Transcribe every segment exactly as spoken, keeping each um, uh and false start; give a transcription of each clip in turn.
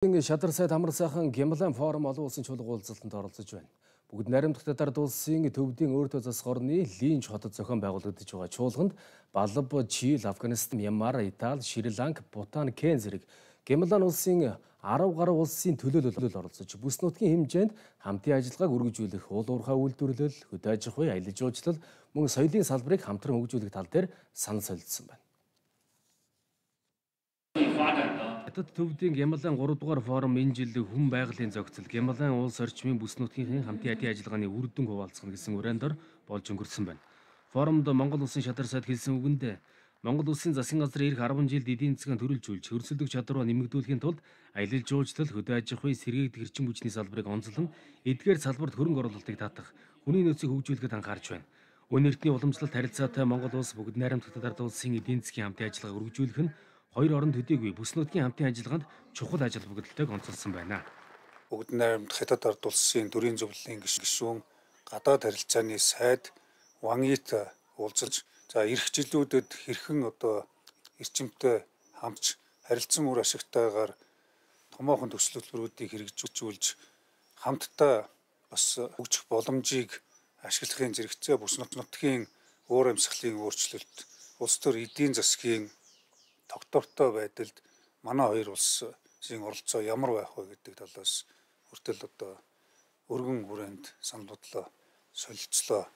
Шадар сайд амар сайхан Гямлан форум олон улсын чуулга уулзалтанд оролцож байна. Бүгд найрамдах Татар улсын төвдийн өөртөө засах орны Линч хотод зохион байгуулагдаж байгаа чуулганд Балб, Чил, Афганистан, Мьянмар, Итали, Шри-Ланк, Бутан, Кен зэрэг Гямлан улсын арав гаруй улсын төлөөлөл оролцож бүс нутгийн хэмжээнд хамтын ажиллагааг үргэлжлүүлэх уул уурхай үйлдвэрлэл, хөдөө аж ахуй, аялал жуулчлал, мөн соёлын салбарыг хамтран хөгжүүлэх тал дээр санал солилцсон байна. Хятад төвдийн Гямлан гурав дугаар форум энэ жил хүн байгалийн зохицол Гямлан улс орчмын бүс нутгийн хамтын ажиллагааны үр дүн хуваалцах гэсэн хүрээндээр болж өнгөрсөн байна. Форумд Монгол улсын Шадар сайд хэлсэн үгэнд Монгол улсын засгийн газар ирэх арван жилд эдийн засгийн төрөлжүүлж хөрсөлдөх чадвараа нэмэгдүүлэхийн тулд аялал жуулчлал, хөдөө аж ахуй, сэргээгдэх эрчим хүчний салбарыг онцлон эдгээр салбарт хөрөнгө оруулалтыг татах, хүний нөөцийг хөгжүүлэхэд анхаарч байна. Өнөө эртний уламжлалт харилцаатай Монгол улс бүгд найрамдах Татар улсын эдийн засгийн хамтын ажиллагааг үргэлжлүүлэх нь хоёр орон төдийгүй бүс нутгийн хамтын ажиллагаанд чухал ажил бүгдэлтэйг онцолсон байна. Бүгд найрамдах Хятад ард улсын төрийн зөвлөлийн гишүүн, гадаад харилцааны сайд Вангит уулзаж, за ирэх жилүүдэд хэрхэн одоо эрчимтэй хамтж харилцан үр ашигтайгаар томоохон төсөл хөтөлбөрүүдийг хэрэгжүүлж хамтдаа бас хөгжих боломжийг ашиглахын зэрэгцээ бүс нутгийн уур амьсгалын өөрчлөлт, улс төр эдийн засгийн тогтвортой байдалд манай хоёр улсын оролцоо ямар байх вэ гэдэг талаас хүртэл одоо өргөн хүрээнд санал бодлоо солилцлоо.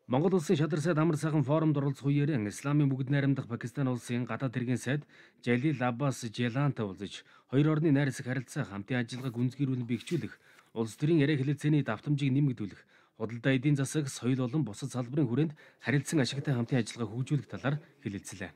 Монгол улсын Шадар сайд амар сайхан форумд оролцох үеэр Исламын бүгд найрамдах Пакистан улсын гадаад хэргийн сайд Жалил Аббас Желантай уулзаж хоёр орны найрсаг харилцаа, хамтын ажиллагааг үндэслүүлэн бэхжүүлэх, улс төрийн яриа хэлэлцээний давтамжийг нэмэгдүүлэх, худалдаа эдийн засаг, соёл болон бусад салбарын хүрээнд харилцан ашигтай хамтын ажиллагаа хөгжүүлэх талаар хэлэлцлээ.